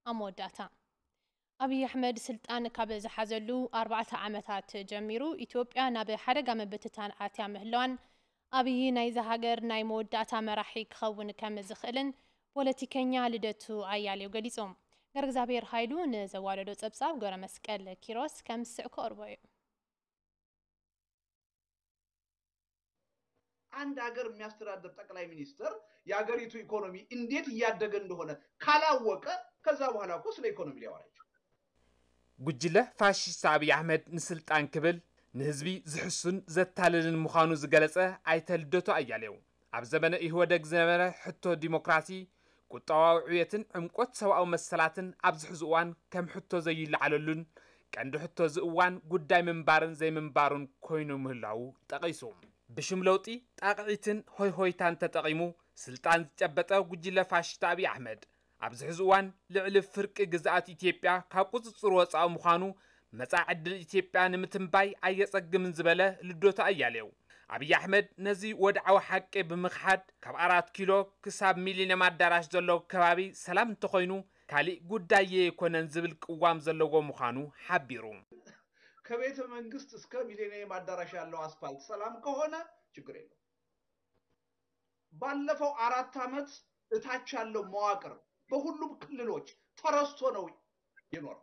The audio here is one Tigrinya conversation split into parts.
ኣብ መወዳእታ፣ ኣብይ ኣሕመድ ስልጣን ካብ ዝሓዘሉ ኣርባዕተ ዓመታት ጀሚሩ፣ ኢትዮጵያ ናብ ሓደጋ ምብትታን ኣትያ ምህላዋን ኣብይ ናይዛ ሃገር ናይ መወዳእታ መራሒ ክኸውን ከም ዝኽእልን ፖለቲከኛ ልደቱ ኣያሌው ገሊጾም። ገረእግዚኣብሔር ሃይሉ ንዘዋደዶ ጸብጻብ ገብረመስቀል ኪሮስ ከም ዝስዕ ክቐርቦ እዩ። አንድ ሀገር የሚያስተዳድር ጠቅላይ ሚኒስትር የሀገሪቱ ኢኮኖሚ እንዴት እያደገ እንደሆነ ካላወቀ ከዛ በኋላ እኮ ስለ ኢኮኖሚ ሊያወራ ይችላል። ጉጅለ ፋሽስት ኣብይ ኣሕመድ ንስልጣን ክብል ንህዝቢ ዝሕሱን ዘታልልን ምዃኑ ዝገለጸ ኣይተ ልደቱ ኣያሌው፣ ኣብ ዘመነ ኢህወደግ ዝነበረ ሕቶ ዲሞክራሲ፣ ቁጠባዊ ዕብየትን ዕምቆት ሰብኣዊ መሰላትን ኣብዚ ሕዚ እዋን ከም ሕቶ ዘይለዓለሉን ቀንዲ ሕቶ እዚ እዋን ጉዳይ ምንባርን ዘይምንባሩን ኮይኑ ምህላዉ ጠቒሱ። ብሽም ለውጢ፣ ጣቕዒትን ሆይሆይታን ተጠቒሙ ስልጣን ዝጨበጠ ጉጅለ ፋሽስት ኣብይ ኣሕመድ፣ ኣብዚ ሕዚ እዋን ልዕሊ ፍርቂ ግዝኣት ኢትዮጵያ ካብ ቁፅፅር ወፃኢ ምዃኑ፣ መፃኢ ዕድል ኢትዮጵያ ንምትንባይ ኣየፀግምን ዝበለ ልደቱ ኣያሌው፣ ኣብይ ኣሕመድ ነዚ ወድዓዊ ሓቂ ብምኽሓድ፣ ካብ ኣራት ኪሎ ክሳብ ሚሊኒየም ኣዳራሽ ዘሎ ከባቢ ሰላም እንተኾይኑ ካሊእ ጉዳይ የይኮነን ዝብል ቅዋም ዘለዎ ምዃኑ ሓቢሩ። ከቤተ መንግስት እስከ ሚሊኒየም አዳራሽ ያለው አስፋልት ሰላም ከሆነ ችግር የለው። ባለፈው አራት ዓመት እታች ያለው መዋቅር በሁሉም ክልሎች ተረስቶ ነው የኖረው።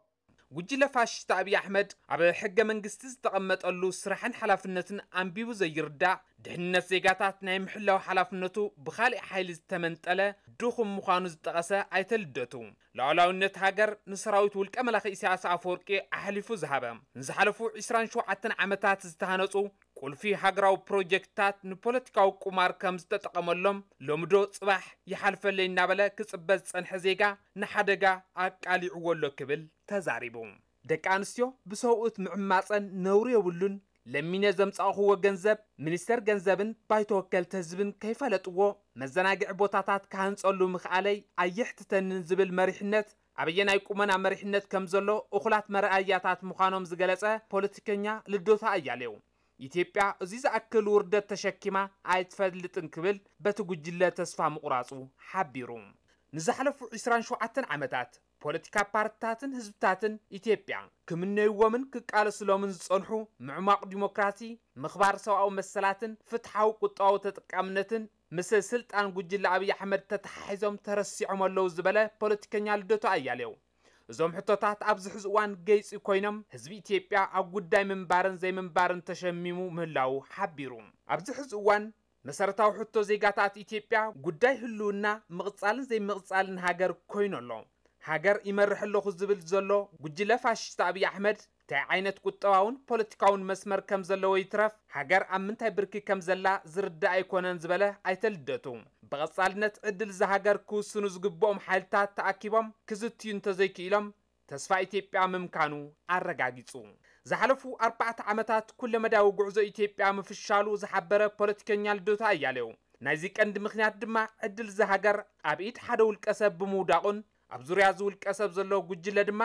ጉጅለ ፋሽስት ኣብይ ኣሕመድ ኣብ ሕገ መንግስቲ ዝተቐመጠሉ ስራሕን ሓላፍነትን ኣንቢቡ ዘይርዳእ፣ ድሕንነት ዜጋታት ናይ ምሕላው ሓላፍነቱ ብኻሊእ ሓይሊ ዝተመንጠለ ድኹም ምዃኑ ዝጠቐሰ ኣይተ ልደቱ፣ ሉዓላዊነት ሃገር ንሰራዊት ውልቀ መላኺ ኢሳያስ ኣፈወርቂ ኣሕሊፉ ዝሃበ፣ ንዝሓለፉ ዒስራን ሸውዓተን ዓመታት ዝተሃነፁ ቁልፊ ሃገራዊ ፕሮጀክትታት ንፖለቲካዊ ቁማር ከም ዝተጠቐመሎም፣ ሎሚ ዶ ፅባሕ ይሓልፈለይ እናበለ ክፅበ ዝፀንሐ ዜጋ ንሓደጋ ኣቃሊዕዎ ኣሎ ክብል ተዛሪቡ። ደቂ ኣንስትዮ ብሰብኡት ምዕማፀን ነውሪ የብሉን፣ ለሚነ ዘምፃእኽዎ ገንዘብ ሚኒስተር ገንዘብን ባይቶ ወከልቲ ህዝብን ከይፈለጥዎ መዘናግዒ ቦታታት ክሃንፀሉ ምኽኣለይ ኣየሕትተንን ዝብል መሪሕነት ኣበየናይ ቁመና መሪሕነት ከም ዘሎ እኹላት መርኣያታት ምዃኖም ዝገለፀ ፖለቲከኛ ልደቱ ኣያሌው፣ ኢትዮጵያ እዚ ዝኣክል ውርደት ተሸኪማ ኣይትፈልጥን ክብል በቲ ጉጅለ ተስፋ ምቑራፁ ሓቢሩ። ንዝሓለፉ ዒስራን ሸውዓተን ዓመታት ፖለቲካ ፓርትታትን ህዝብታትን ኢትዮጵያ ክምነይዎምን ክቃለስሎምን ዝጸንሑ ምዕሟቕ ዲሞክራሲ፣ ምኽባር ሰብኣዊ መሰላትን ፍትሓዊ ቁጠባዊ ተጠቃምነትን ምስ ስልጣን ጉጅለ ኣብይ ኣሕመድ ተተሓሒዞም ተረሲዖም ኣለዉ ዝበለ ፖለቲከኛ ልደቱ ኣያሌው፣ እዞም ሕቶታት ኣብዚ ሕዚ እዋን ገይፂ ኮይኖም ህዝቢ ኢትዮጵያ ኣብ ጉዳይ ምንባርን ዘይምንባርን ተሸሚሙ ምህላዉ ሓቢሩ። ኣብዚ ሕዚ እዋን መሰረታዊ ሕቶ ዜጋታት ኢትዮጵያ ጉዳይ ህልውና ምቕፃልን ዘይምቕፃልን ሃገር ኮይኑ ኣሎ። ሃገር ይመርሕ ኣለኹ ዝብል ዘሎ ጉጅለ ፋሽስት ኣብይ ኣሕመድ እንታይ ዓይነት ቁጠባውን ፖለቲካውን መስመር ከም ዘለዎ ይትረፍ ሃገር ኣብ ምንታይ ብርኪ ከም ዘላ ዝርዳእ ኣይኮነን ዝበለ ኣይተ ልደቱ፣ ብቐፃልነት ዕድል እዛ ሃገር ክውስኑ ዝግብኦም ሓይልታት ተኣኪቦም ክዝትዩ እንተዘይክኢሎም ተስፋ ኢትዮጵያ ምምካኑ ኣረጋጊጹ። ዝሓለፉ ኣርባዕተ ዓመታት ኩለመዳያዊ ጉዕዞ ኢትዮጵያ ምፍሻሉ ዝሓበረ ፖለቲከኛ ልደቱ ኣያሌው፣ ናይዚ ቀንዲ ምኽንያት ድማ ዕድል እዛ ሃገር ኣብ ኢድ ሓደ ውልቀ ሰብ ብምውዳቑን ኣብ ዙርያ እዚ ውልቀ ሰብ ዘሎ ጉጅለ ድማ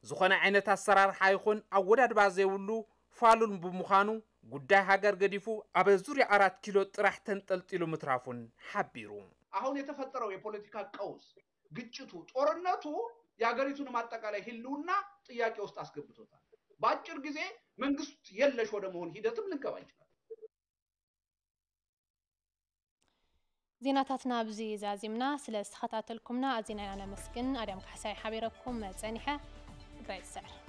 ዝኾነ ዓይነት ኣሰራርሓ ይኹን ኣወዳድባ ዘይብሉ ፋሉል ብምዃኑ ጉዳይ ሃገር ገዲፉ ኣብ ዙርያ ኣራት ኪሎ ጥራሕ ተንጠልጢሉ ምትራፉን ሓቢሩ። አሁን የተፈጠረው የፖለቲካ ቀውስ፣ ግጭቱ፣ ጦርነቱ የሀገሪቱንም አጠቃላይ ህልውና ጥያቄ ውስጥ አስገብቶታል። በአጭር ጊዜ መንግስት የለሽ ወደ መሆን ሂደትም ልንገባ እንችላለን። ዜናታትና ኣብዚ ዛዚምና። ስለ ዝተኸታተልኩምና ኣዚና ኢና ነመስግን። ኣድያም ካሕሳይ ሓቢረኩም ጸኒሐ። ትግራይ ትስዕር።